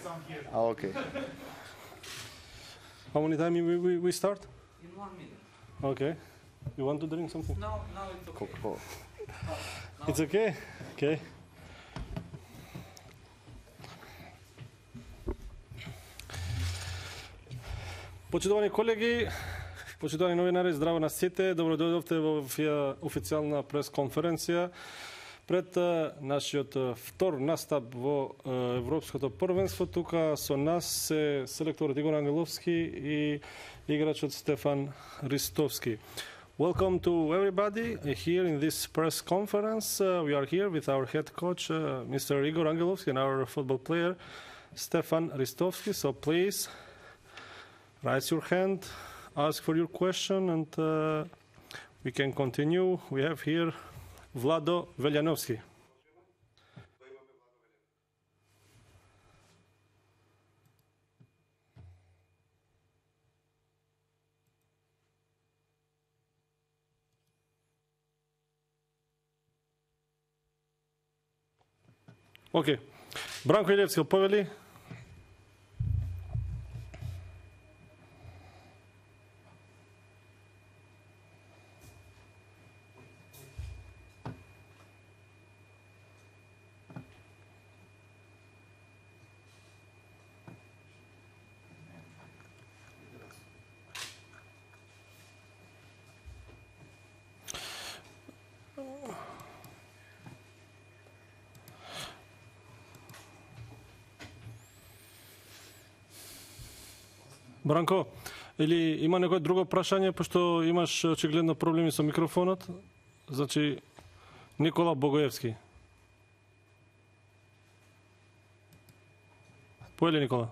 Okay. How many time we start? In 1 minute. Okay. You want to drink something? No, it's okay. Cool. It's okay? Okay. Почитувани колеги, почитувани новинари, здраво на сите. Добро дојдовте во официјална пресконференција пред нашиот втор настап во Европското првенство. Тука со нас се селекторот Игор Ангеловски и играчот Стефан Ристовски. Welcome to everybody here in this press conference. We are here with our head coach, Mr. Igor Angelovski, and our football player, Stefan Ristovski. So please, raise your hand, ask for your question, and we can continue. We have here Vlado Veljanovski. Окей. Бранко Илевски, повели. Бранко, или има некој друго прашање, пошто имаш очигледно проблеми со микрофонот? Значи, Никола Богоевски. Поели, Никола?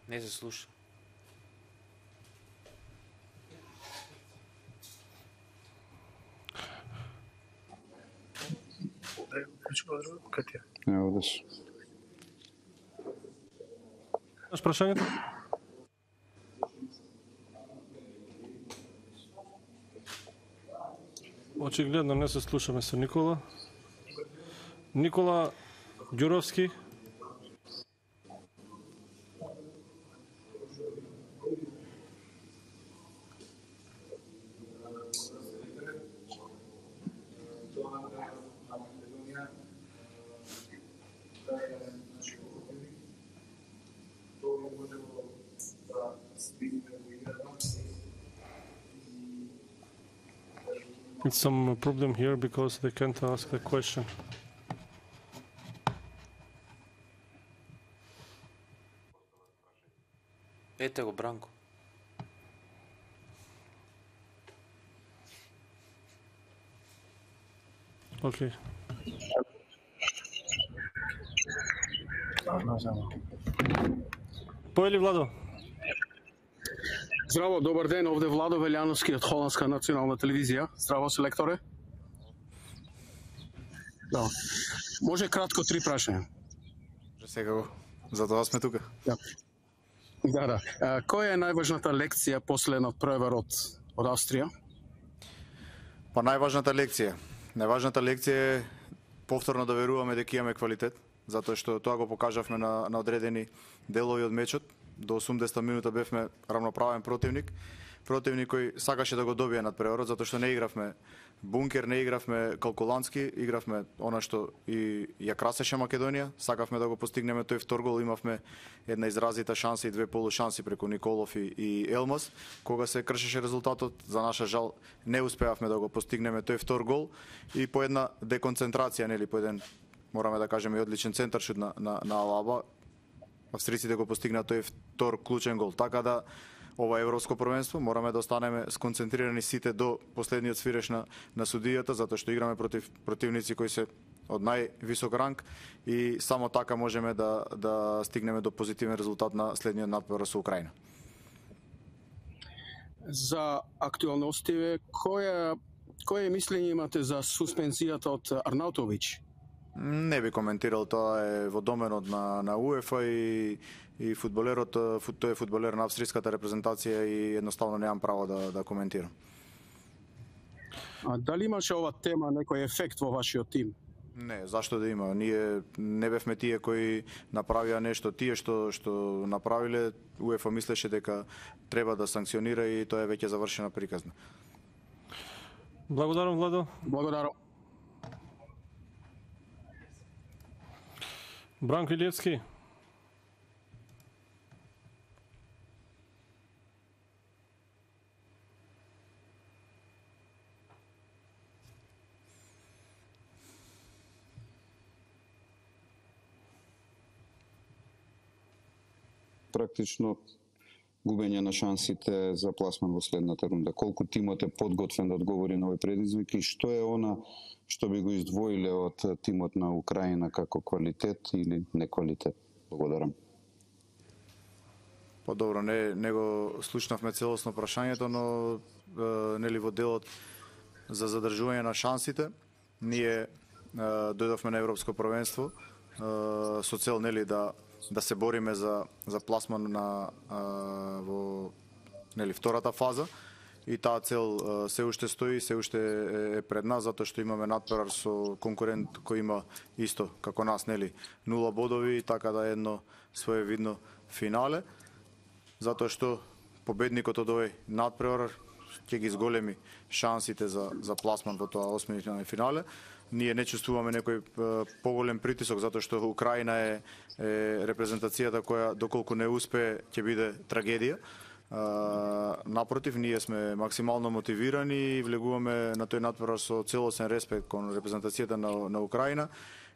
Не се слуша. Не одеш. Имаш прашањето? Очигледно не се слушаме со Никола. Никола Ѓуровски. It's some problem here because they can't ask the question. Ете го, Бранко. Окей. Поели, Владо? Здраво, добар ден, овде Владо Велјановски од Холандска национална телевизија. Здраво, селекторе. Да. Може кратко 3 прашања. Секако. Затоа сме тука. Да. Која е најважната лекција после надпреварот од Австрија? Па најважната лекција е повторно да веруваме дека имаме квалитет, затоа што тоа го покажавме на одредени делови од мечот. До 80 минута бевме рамноправен противник кој сакаше да го добие надпреварот, затоа што не игравме бункер, не игравме калкулантски, игравме она што и ја красеше Македонија, сакавме да го постигнеме тој втор гол, имавме една изразита шанса и 2 полушанси преку Николов и Елмас, кога се кршеше резултатот, за наша жал не успеавме да го постигнеме тој втор гол и по една деконцентрација, нели, по еден, мораме да кажеме, и одличен центаршут на Алаба, австриците го постигнаа тој втор клучен гол. Така да ова европско првенство мораме да останеме сконцентрирани сите до последниот свиреш на судијата, затоа што играме против противници кои се од највисок ранг и само така можеме да стигнеме до позитивен резултат на следниот надпревар со Украина. За актуалностиве, кое мислење имате за суспензијата од Арнаутовиќ? Не би коментирал, тоа е во доменот на УЕФА и фудбалерот, тој е фудбалер на австриската репрезентација и едноставно немам право да коментирам. А дали имаше ова тема некој ефект во вашиот тим? Не, зашто да има? Ние не бевме тие кои направија нешто. Тие што направиле, УЕФА мислеше дека треба да санкционира и тоа е веќе завршена приказна. Благодарам, Владо. Благодарам. Бранко Илиевски. Практично губење на шансите за пласман во следната рунда. Колку тимот е подготвен да одговори на овој предизвик и што е она што би го издвоиле од тимот на Украина како квалитет или неквалитет? Благодарам. Добро, не го слушнавме целосно прашањето, но нели во делот за задржување на шансите, ние дојдовме на Европско првенство со цел нели да се бориме за пласман во нели втората фаза и таа цел се уште стои, се уште е пред нас затоа што имаме надпревар со конкурент кој има исто како нас нели 0 бодови, така да е едно своевидно финале, затоа што победникот од овој надпревар ќе ги зголеми шансите за пласман во тоа осмина финале. Ние не чувствуваме некој поголем притисок затоа што Украина е репрезентацијата која доколку не успее ќе биде трагедија. Напротив, ние сме максимално мотивирани и влегуваме на тој надпревар со целосен респект кон репрезентацијата на Украина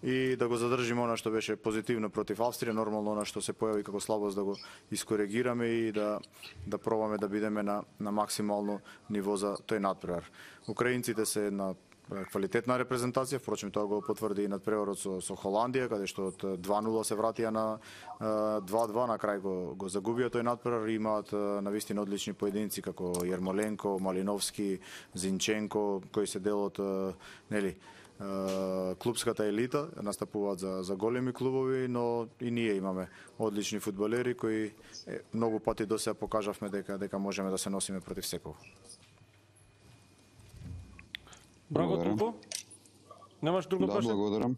и да го задржиме она што беше позитивно против Австрија, нормално она што се појави како слабост да го искоригираме и да пробаме да бидеме на максимално ниво за тој надпревар. Украинците се една квалитетна репрезентација, впрочем тоа го потврди и надпреварот со Холандија, каде што од 2-0 се вратија на 2-2, на крај го загубија тој надпревар, имаат навистина одлични поединци како Јермоленко, Малиновски, Зинченко, кои се дел од нели клубската елита, настапуваат за големи клубови, но и ние имаме одлични фудбалери кои многу пати до сега покажавме дека можеме да се носиме против секој. Бранко Тупо? Немаш друго прашање? Да, благодарам.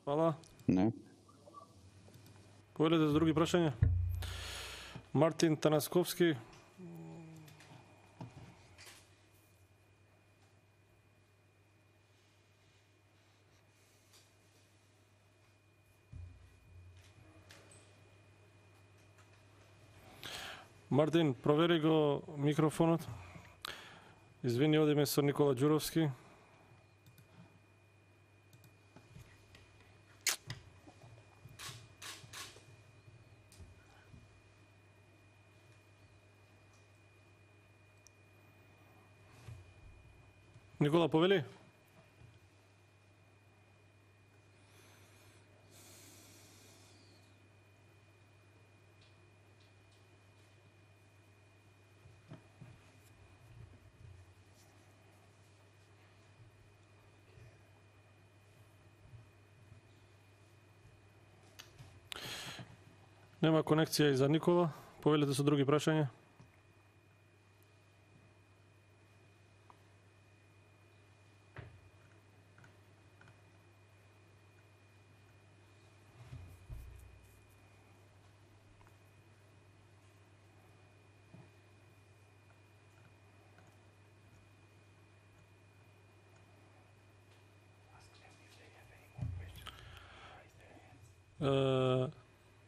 Фала. Не. Повелете за други прашања? Мартин Танасковски. Мартин, провери го микрофонот. Извини, одиме со Никола Ѓуровски. Никола, повели? Нема конекција и за Никола. Повелете со други прашања?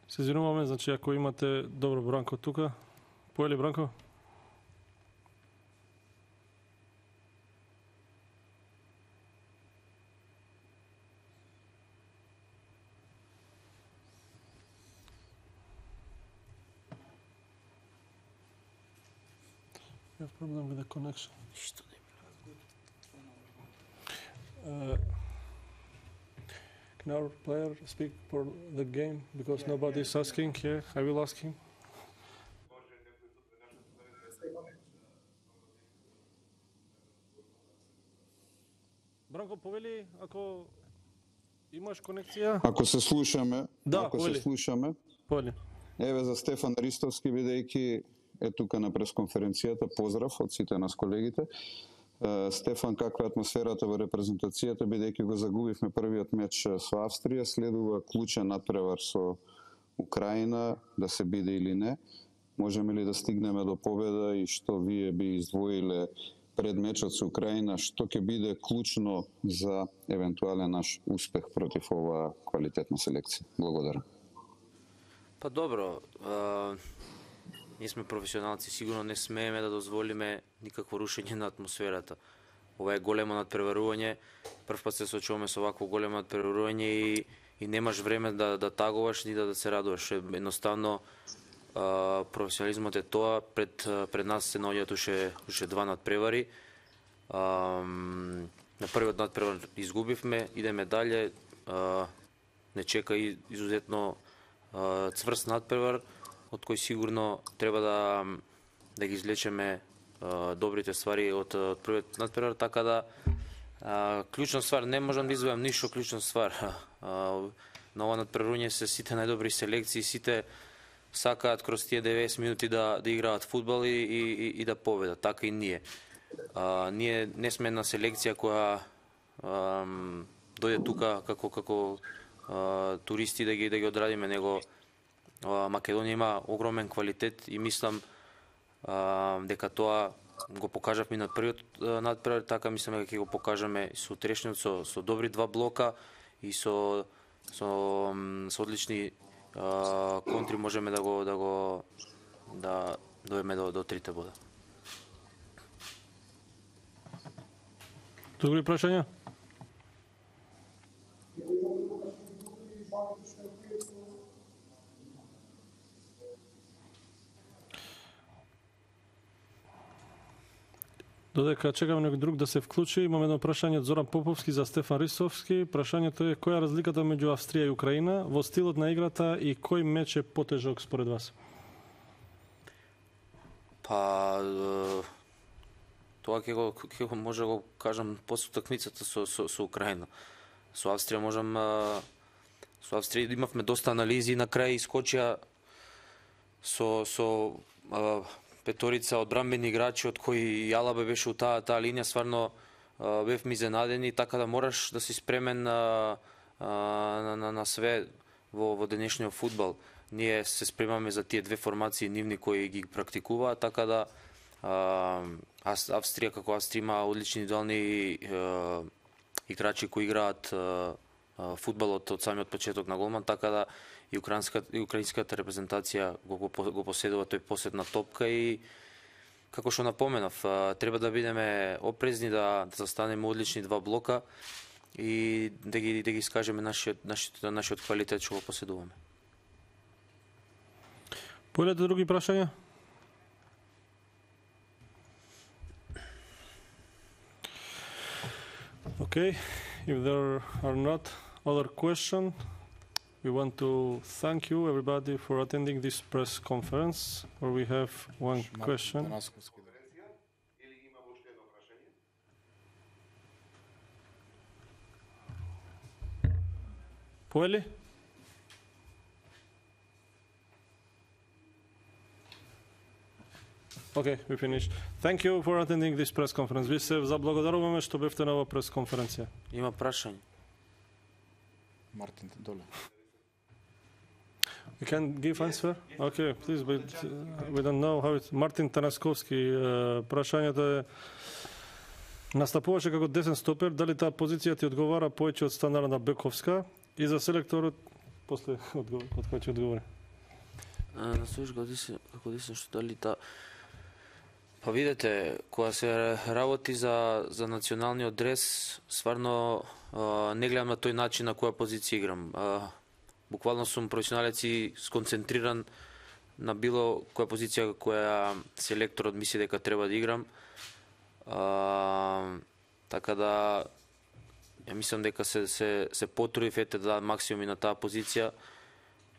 Се извинуваме, значи ако имате добро Бранко тука. Поели Бранко? You have problem with the connection. Can our player speak for the game because nobody is asking? Yeah, I will ask him. Бранко, повели, ако имаш конекција? Ако се слушаме, Да, ако повели. се слушаме, Повели. еве за Стефан Ристовски, бидејќи е тука на пресконференцијата, поздрав од сите нас колегите. Стефан, каква е атмосферата во репрезентацијата, бидејќи го загубивме првиот меч со Австрија, следува клучен натпревар со Украина, да се биде или не. Можеме ли да стигнеме до победа и што вие би издвоиле пред мечот со Украина, што ќе биде клучно за евентуален наш успех против оваа квалитетна селекција? Благодарам. Па добро, ние сме професионалци, сигурно не смееме да дозволиме никакво рушење на атмосферата. Ова е големо надпреварување, прв пат се соочуваме со вакво големо надпреварување и немаш време да тагуваш ни да се радуваш. Едноставно, професионализмот е тоа, пред нас се наоѓаат уште два надпревари. На првиот надпревар изгубивме, идеме дале, не чека изузетно цврст надпревар, од кој сигурно треба да ги извлечеме добрите ствари од првиот надпревар, така да клучна ствар, не можам да издвојам ништо клучна ствар. На ова надпреварување се сите најдобри селекции, сите сакаат кроз тие 90 минути да играат фудбал и да победат, така и ние. Ние не сме една селекција која дојде тука како туристи да ги одрадиме, него Македонија има огромен квалитет и мислам дека тоа го покажавме на првиот надпревар, така мислам дека ќе го покажеме со утрешниот со добри два блока и со одлични контри можеме да дојдеме до трите бода. Други прашања? Додека чекаме некој друг да се вклучи, имаме едно прашање од Зоран Поповски за Стефан Рисовски. Прашањето е: која е разликата меѓу Австрија и Украина во стилот на играта и кој меч е потежок според вас? Па тоа ќе го може да го кажам после утакмицата со Украина. Со Австрија со Австрија имавме доста анализи и на крај искочија со петорица одбранбени играчи, од кои Алаба беше у таа линија, стварно бевме изненадени, така да мораш да си спремен на све во денешниот фудбал. Ние се спремаме за тие две формации нивни кои ги практикуваат, така да Австрија како Австрија има одлични индивидуални играчи кои играат фудбалот од самиот почеток на голман, така да и украинската репрезентација го поседува тој посет на топка и како што напоменав, треба да бидеме опрезни, да застанеме одлични два блока и да ги искажеме нашиот квалитет што го поседуваме. Појдете други прашања? Okay, if there are not other questions, we want to thank you everybody for attending this press conference where we have one question. Поели? Okay, we finished. Thank you for attending this press conference. Ви се заблагодаруваме што бевте на оваа прес конференција. Има прашање. Мартин, доле. You can give answer? Okay, please, but we don't know how it's... Мартин Танасковски, прашањето е: настапуваше како десен стопер, дали таа позиција ти одговара повеќе од стандардна бековска и за селекторот после од кој ќе одговори? Настоиш како десен што дали таа... Па видете, кога се работи за националниот дрес, стварно не гледам на тој начин на која позиција играм. Буквално сум професионалец и сконцентриран на било која позиција која селекторот мисли дека треба да играм. Така да ја мислам дека се потрудив да дадам максимум и на таа позиција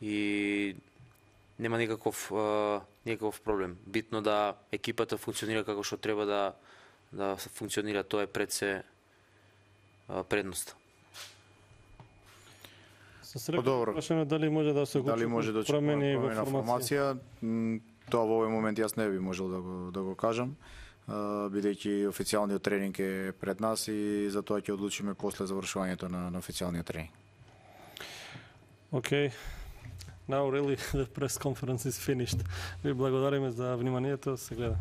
и нема никаков проблем. Битно да екипата функционира како што треба да функционира, тоа е пред се предност. Добро. Дали може да се промени во формација? Тоа во овој момент јас не би можел да го кажам. бидејќи официјалниот тренинг е пред нас и затоа ќе одлучиме после завршувањето на официјалниот тренинг. Okay. Now really the press conference is finished. Ви благодариме за вниманието, се гледа.